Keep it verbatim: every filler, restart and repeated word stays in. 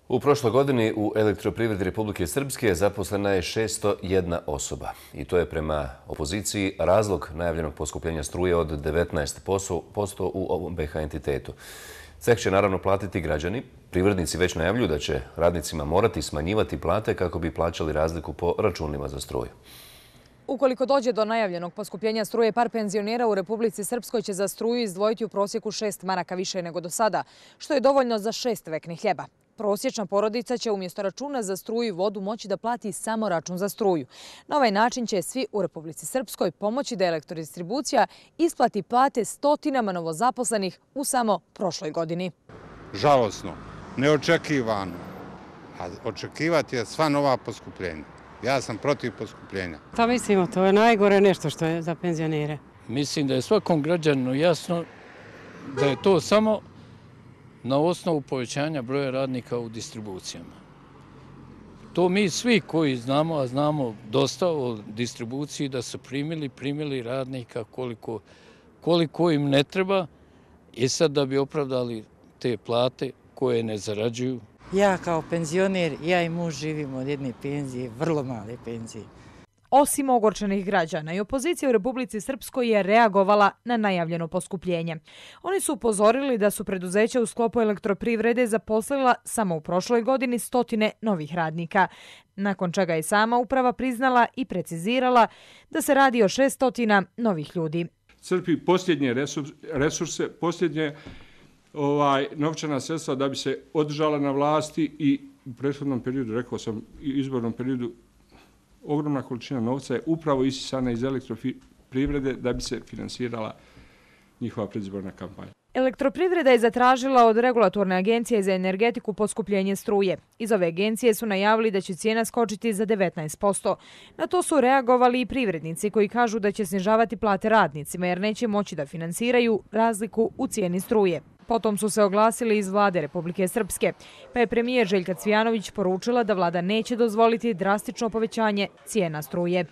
U prošloj godini u Elektroprivredi Republike Srpske zaposlena je šesto jedna osoba. I to je prema opoziciji razlog najavljenog poskupljenja struje od devetnaest posto u ovom B H entitetu. Ceh će naravno platiti građani. Privrednici već najavljuju da će radnicima morati smanjivati plate kako bi plaćali razliku po računima za struju. Ukoliko dođe do najavljenog poskupljenja struje, par penzionera u Republici Srpskoj će za struju izdvojiti u prosjeku šest maraka više nego do sada, što je dovoljno za šest veknih hljeba. Prosječna porodica će umjesto računa za struju i vodu moći da plati samo račun za struju. Na ovaj način će svi u Republici Srpskoj pomoći da elektrodistribucija isplati plate stotinama novozaposlenih u samo prošloj godini. Žalosno, neočekivano, a očekivati je sva nova poskupljenja. Ja sam protiv poskupljenja. Pa mislimo, to je najgore nešto što je za penzionere. Mislim da je svakom građaninu jasno da je to samo na osnovu povećanja broja radnika u distribucijama. To mi svi koji znamo, a znamo dosta o distribuciji, da su primili, primili radnika koliko, koliko im ne treba i sad da bi opravdali te plate koje ne zarađuju. Ja kao penzioner, ja i muž živimo od jedne penzije, vrlo male penzije. Osim ogorčenih građana i opozicija u Republici Srpskoj je reagovala na najavljeno poskupljenje. Oni su upozorili da su preduzeća u sklopu Elektroprivrede zaposlila samo u prošloj godini stotine novih radnika, nakon čega je sama uprava priznala i precizirala da se radi o šestotina novih ljudi. Crpi posljednje resurse, posljednje ovaj, novčana sredstva da bi se održala na vlasti i u prethodnom periodu, rekao sam, izbornom periodu, ogromna količina novca je upravo isisana iz Elektroprivrede da bi se finansirala njihova predizborna kampanja. Elektroprivreda je zatražila od Regulatorne agencije za energetiku poskupljenje struje. Iz ove agencije su najavili da će cijena skočiti za devetnaest posto. Na to su reagovali i privrednici koji kažu da će snižavati plate radnicima jer neće moći da finansiraju razliku u cijeni struje. Potom su se oglasili iz vlade Republike Srpske, pa je premijer Željka Cvijanović poručila da vlada neće dozvoliti drastično povećanje cijena struje.